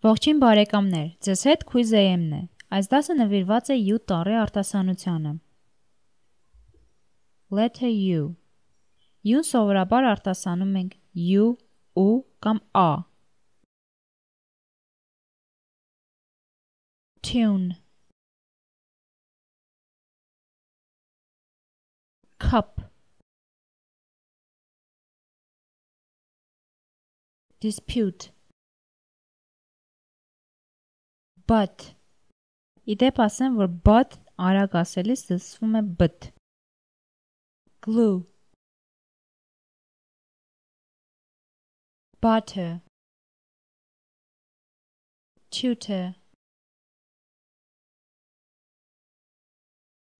Ողջույն բարեկամներ, ձեզ հետ Quiz AM-ն է։ Այս դասը նվիրված է U տառի արտասանությանը։ Letter U. U-ն սովորաբար արտասանում ենք U, U կամ A։ Tune. Cup. Dispute. But. Իդեպ ասեմ, որ but արագ ասելիս լսվում է but։ Glue. Butter. Tutor.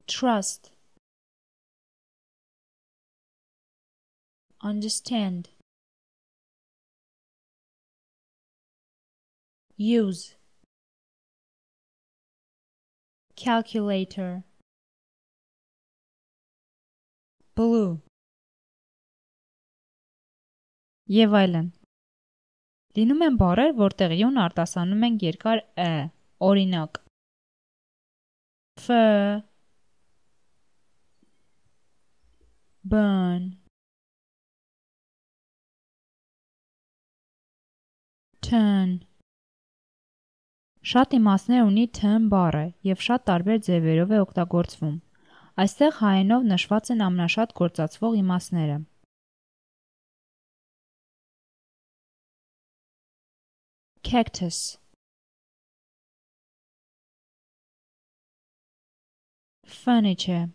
Trust. Understand. Use. Calculator. Blue. Եվ այլն։ Լինում են բառեր, որտեղ յուն արտասանում ենք երկար ը, օրինակ fur, burn, turn։ Շատ իմաստներ ունի turn բառը և շատ տարբեր ձևերով է օգտագործվում։ Այստեղ հայերենով նշված են ամենաշատ գործածվող իմաստները։ Cactus. Furniture.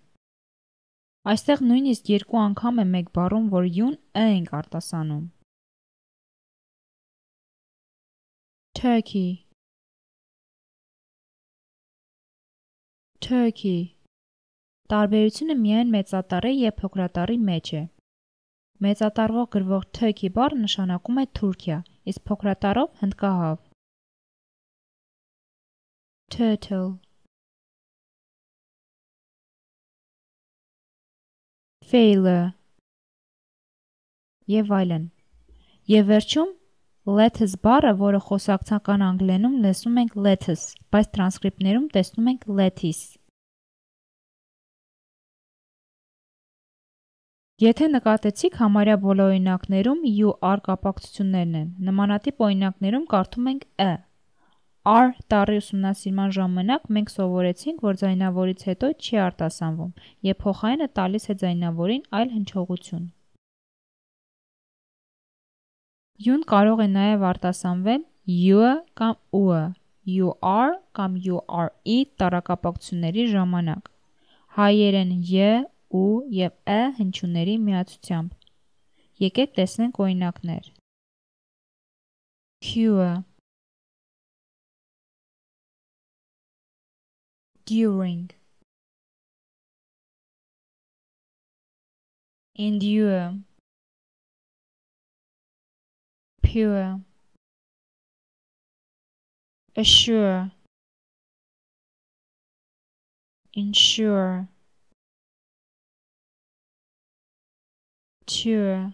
Այստեղ նույնիսկ երկու անգամ է մեկ բառում, որ յուն ը ենք արտասանում։ Turkey. Turkey. Տարբերությունը միայն մեծատառի և փոքրատառի մեջ է։ Մեծատառով գրվող turkey բառը նշանակում է Թուրքիա, իսկ փոքրատառով հնդկահավ։ Turtle. Failure. Եվ այլն։ Եվ վերջում lettuce բառը, որը խոսակցական անգլերենում լսում ենք lettuce, բայց տրանսկրիպտներում տեսնում ենք lettuce։ Եթե նկատեցիք, համարյա բոլոր օրինակներում U-R կապակցություններն են։ Նմանատիպ օրինակներում կարդում ենք ը։ R տառի ուսումնասիրման ժամանակ մենք սովորեցինք, որ ձայնավորից հետո չի արտասանվում, և փոխարենը տալիս է ձայնավորին այլ հնչողություն։ U-ն կարող է նաև արտասանվել U-ը կամ U-ը, UR կամ URE տառակապակցությունների ժամանակ։ Հայերեն J, U և Ը հնչյունների միացությամբ։ Եկեք տեսնենք օրինակներ։ Cure. During. Endure. Pure. Assure. Ensure. Tour.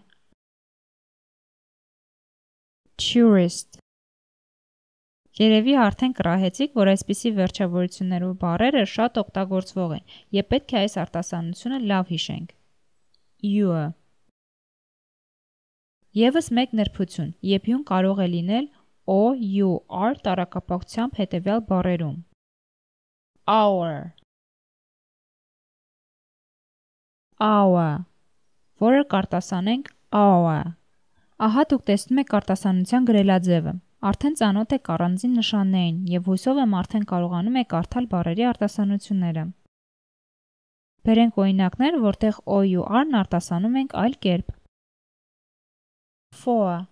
Tourist. Երևի արդեն կռահեցիք, որ այսպիսի վերջավորություններով բառերը շատ օգտագործվող են, և պետք է այս արտասանությունը լավ հիշենք։ U-ը։ Եվս մեկ նրբություն, երբ յուն կարող է լինել O-U-R տառակապակցությամբ հետևյալ բառերում։ Hour. Hour. Որը կարտասանենք hour։ Ահա դուք տեսնում եք արտասանության գրելաձևը։ Արդեն ծանոթ եք առանձին նշաններին և հույսով եմ արդեն կարողանում եք կարդալ բառերի արտասանությունները։ Բերենք օրինակներ, որտեղ O-U-R-ն արտասանում ենք այլ կերպ։ For.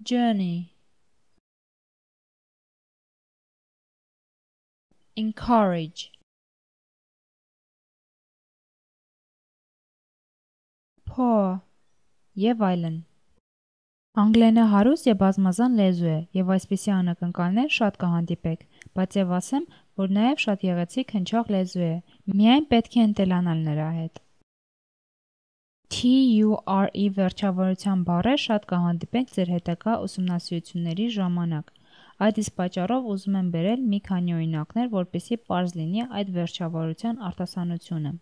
Journey. Encourage. Pour. Եվ այլն։ Անգլերենը հարուստ և բազմազան լեզու է, և այսպիսի անակնկալներ շատ կհանդիպեք, բայց և ասեմ, որ նաև շատ գեղեցիկ հնչող լեզու է, միայն պետք է ընտելանալ նրա հետ։ TURE վերջավորության բառեր շատ կհանդիպենք ձեր հետագա ուսումնասիրությունների ժամանակ։ Այդ իսկ պատճառով ուզում եմ բերել մի քանի օրինակներ, որպեսզի պարզ լինի այդ վերջավորության արտասանությունը։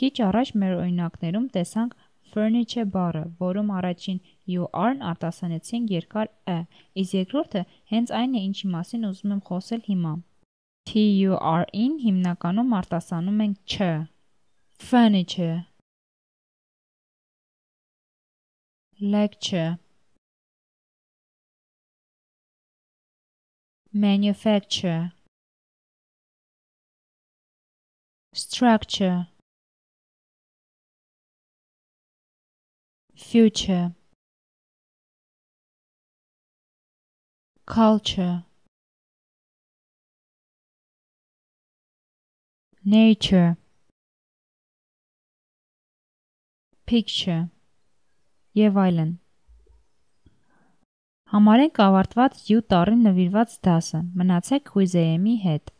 Քիչ առաջ մեր օրինակներում տեսանք furniture բառը, որում առաջին UR-ն արտասանեցինք երկար ը, իսկ երկրորդը հենց այն է, ինչի մասին ուզում եմ խոսել հիմա։ TURE-ին հիմնականում արտասանում ենք չ։ Furniture, lecture, manufacture, structure, future, culture, nature, picture եւ այլն։ Համարենք ավարտված U տառին նվիրված դասը։ Մնացեք Հույզեեմի հետ։